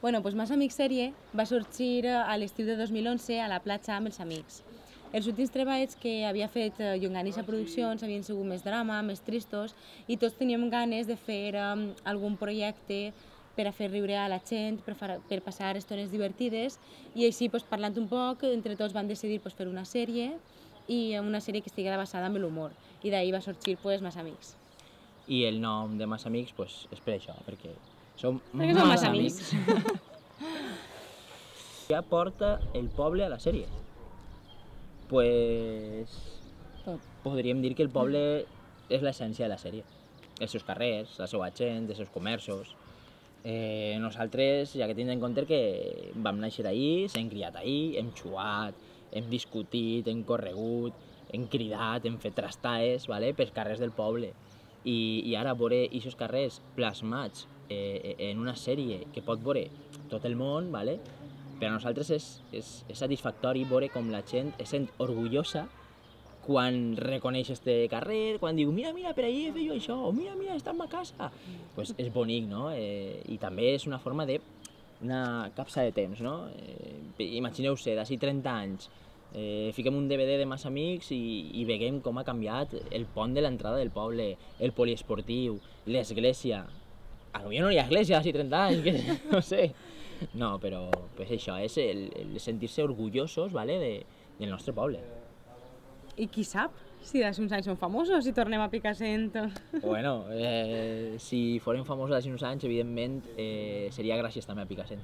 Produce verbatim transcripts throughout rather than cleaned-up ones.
Bueno, doncs Massa Amics sèrie va sorgir a l'estiu de dos mil onze a la platja amb els amics. Els últims treballs que havia fet Llonganissa Produccions havien sigut més drama, més tristos, i tots teníem ganes de fer um, algun projecte per a fer riure a la gent, per, far, per passar estones divertides, i així, pues, parlant un poc, entre tots vam decidir pues, fer una sèrie, i una sèrie que estiguera basada en l'humor, i d'ahir va sorgir pues, Massa Amics. I el nom de Massa Amics pues, és per això, perquè som perquè som Massa Amics. Què aporta el poble a la sèrie? Pues... Tot. Podríem dir que el poble és l'essència de la sèrie. Els seus carrers, la seva gent, els seus comerços. Eh, nosaltres, ja que tindrem en compte que vam néixer ahir, s'hem criat ahir, hem xuat, hem discutit, hem corregut, hem cridat, hem fet trastaes, ¿vale? Pels carrers del poble. I, i ara veure aquests carrers plasmats eh, en una sèrie que pot veure tot el món, ¿vale? Per a nosaltres és, és, és satisfactori veure com la gent es sent orgullosa quan reconeix este carrer, quan diu mira, mira, per allí he fet jo això, o mira, mira, està en ma casa. Pues és bonic, no? Eh, I també és una forma de una capsa de temps, no? Eh, imagineu-se, d'ací trenta anys, eh, fiquem un D V D de Massa Amics i, i veiem com ha canviat el pont de l'entrada del poble, el poliesportiu, l'església. Potser no hi ha església d'ací trenta anys, que no sé. No, però pues això és el, el sentir-se orgullosos, ¿vale? de, del nostre poble. I qui sap si d'ací uns anys som famosos i tornem a Picassent? Bueno, eh, si fórem famosos d'ací uns anys, evidentment, eh, seria gràcies també a Picassent.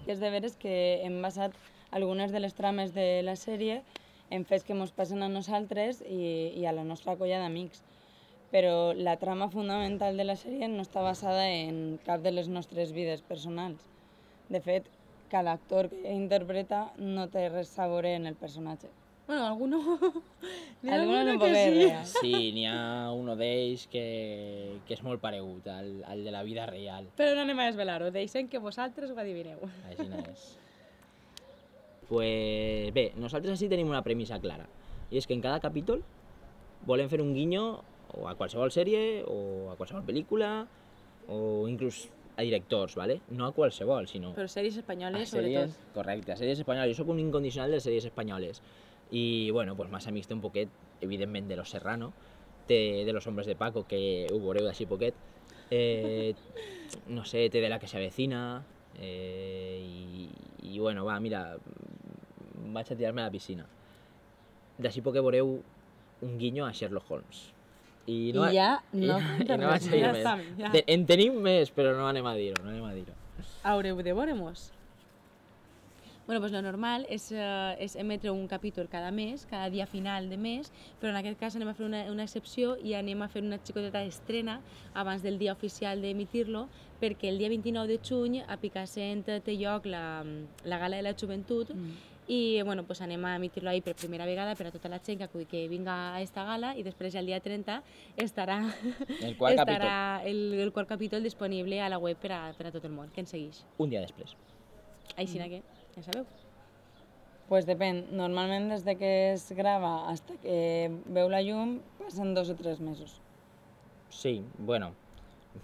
És de veres que hem basat algunes de les trames de la sèrie en fets que ens passen a nosaltres i, i a la nostra colla d'amics. Però la trama fundamental de la sèrie no està basada en cap de les nostres vides personals. De fet, cada actor que interpreta no té res a veure en el personatge. Bueno, alguno... Alguno no que pot sí. real. Sí, n'hi ha un d'ells que, que és molt paregut al, al de la vida real. Però no anem a desvelar-ho, deixem que vosaltres ho adivineu. Així no és. Pues bé, nosaltres així tenim una premissa clara. I és que en cada capítol volem fer un guinyo o a qualsevol sèrie, o a qualsevol pel·lícula, o inclús a directors, ¿vale? No a qualsevol, sinó... Però sèries espanyoles, a sèries, sobretot. correcte, a sèries espanyoles. Jo soc un incondicional de les sèries espanyoles. I, bueno, pues Massa Amics té un poquet, evidentment, de Los Serrano, té de Los Hombres de Paco, que ho veureu d'així poquet, eh, no sé, té de La que se avecina, eh, i, i, bueno, va, mira, vaig a tirar-me a la piscina. D'així poquet veureu un guinyo a Sherlock Holmes. I, no, I ja no i, conta i no res vaig a dir ja més. està, ja. Te- En tenim més, però no anem a dir-ho, no anem a dir-ho. Haureu de veure-mos. Bueno, pues lo normal és, eh, és emetre un capítol cada mes, cada dia final de mes, però en aquest cas anem a fer una, una excepció i anem a fer una xicoteta estrena abans del dia oficial d'emitir-lo, perquè el dia vint-i-nou de juny a Picassent té lloc la, la Gala de la Joventut, mm. i bueno, pues anem a emitir-lo ahir per primera vegada per a tota la gent que, que vinga a esta gala, i després el dia trenta estarà El quart estarà el, el quart capítol disponible a la web per a, per a tot el món, que ens segueix. Un dia després. Així que, ja sabeu. Pues depèn. Normalment des de que es grava fins que veu la llum passen dos o tres mesos. Sí, bueno,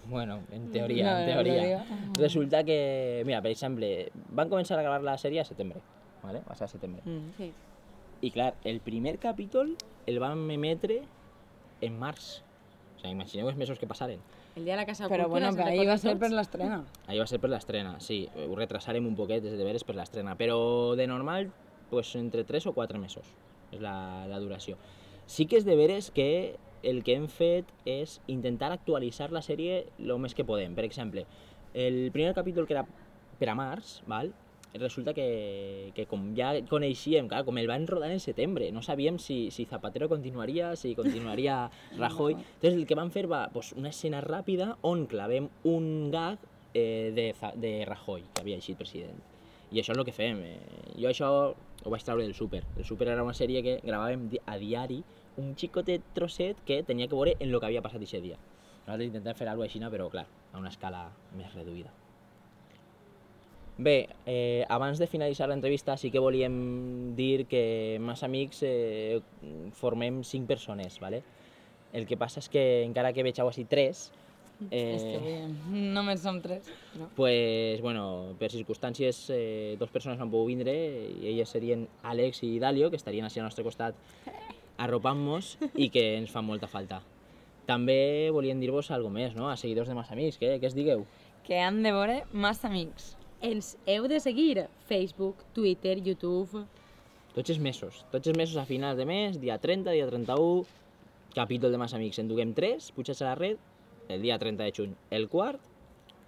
bueno, en teoria, No, en no, teoria. no digo. Resulta que, mira, per exemple, van començar a gravar la sèrie a setembre, ¿vale? Va ser a setembre. Mm. Sí. I clar, el primer capítol el vam emetre en març. O sigui, imagineu els mesos que passaren. El dia de la Casa Però Cultura, bueno, se'n però ahir va recorden ser tots? per l'estrena. Ahir va ser per l'estrena, sí. Ho retrasarem un poquet, des de veres, per l'estrena. Però de normal, pues, entre tres o quatre mesos és la, la duració. Sí que és de veres que el que hem fet és intentar actualitzar la sèrie el més que podem. Per exemple, el primer capítol que era per a març, val? Resulta que, que com ja coneixíem, clar, com el van rodar en setembre, no sabíem si, si Zapatero continuaria, si continuaria Rajoy. Entonces el que van fer va pues, una escena ràpida on clavem un gag eh, de, de Rajoy, que havia eixit president. I això és el que fem. Eh, jo això ho vaig treure del Súper. El Súper era una sèrie que gravàvem a diari, un xicotet trosset que tenia que veure en el que havia passat aquest dia. Nosaltres intentem fer alguna cosa així, però clar, a una escala més reduïda. Bé, eh, abans de finalitzar l'entrevista sí que volíem dir que Massa Amics eh, formem cinc persones, ¿vale? El que passa és que encara que vegeu així tres, Eh, És que avui només som tres. No? pues, bueno, per circumstàncies, eh, dos persones han pogut vindre i elles serien Àlex i Dalio, que estarien així al nostre costat arropant-nos i que ens fan molta falta. També volíem dir-vos alguna més, no? A seguidors de Massa Amics, què, què es digueu? Que han de veure Massa Amics. Ens heu de seguir Facebook, Twitter, YouTube... Tots els mesos, tots els mesos a finals de mes, dia trenta, dia trenta-u, capítol de Massa Amics, en duguem tres, pujats a la red, el dia trenta de juny el quart,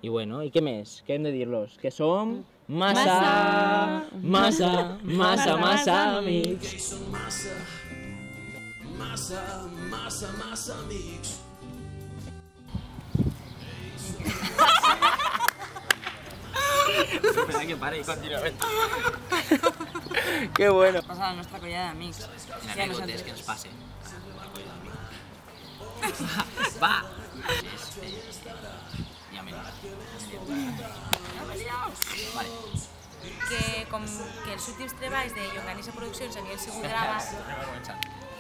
i bueno, i què més? Què hem de dir-los? Que som massa, massa, massa, massa amics. Que són massa, massa, massa, massa amics. Espera que pare i continuament. Que bueno. Passa a la nostra colla d'amics. En anegotes que ens passe. Va! Ja me Vale. Que com que els últims treballs de Llonganissa Produccions havien sigut gravats,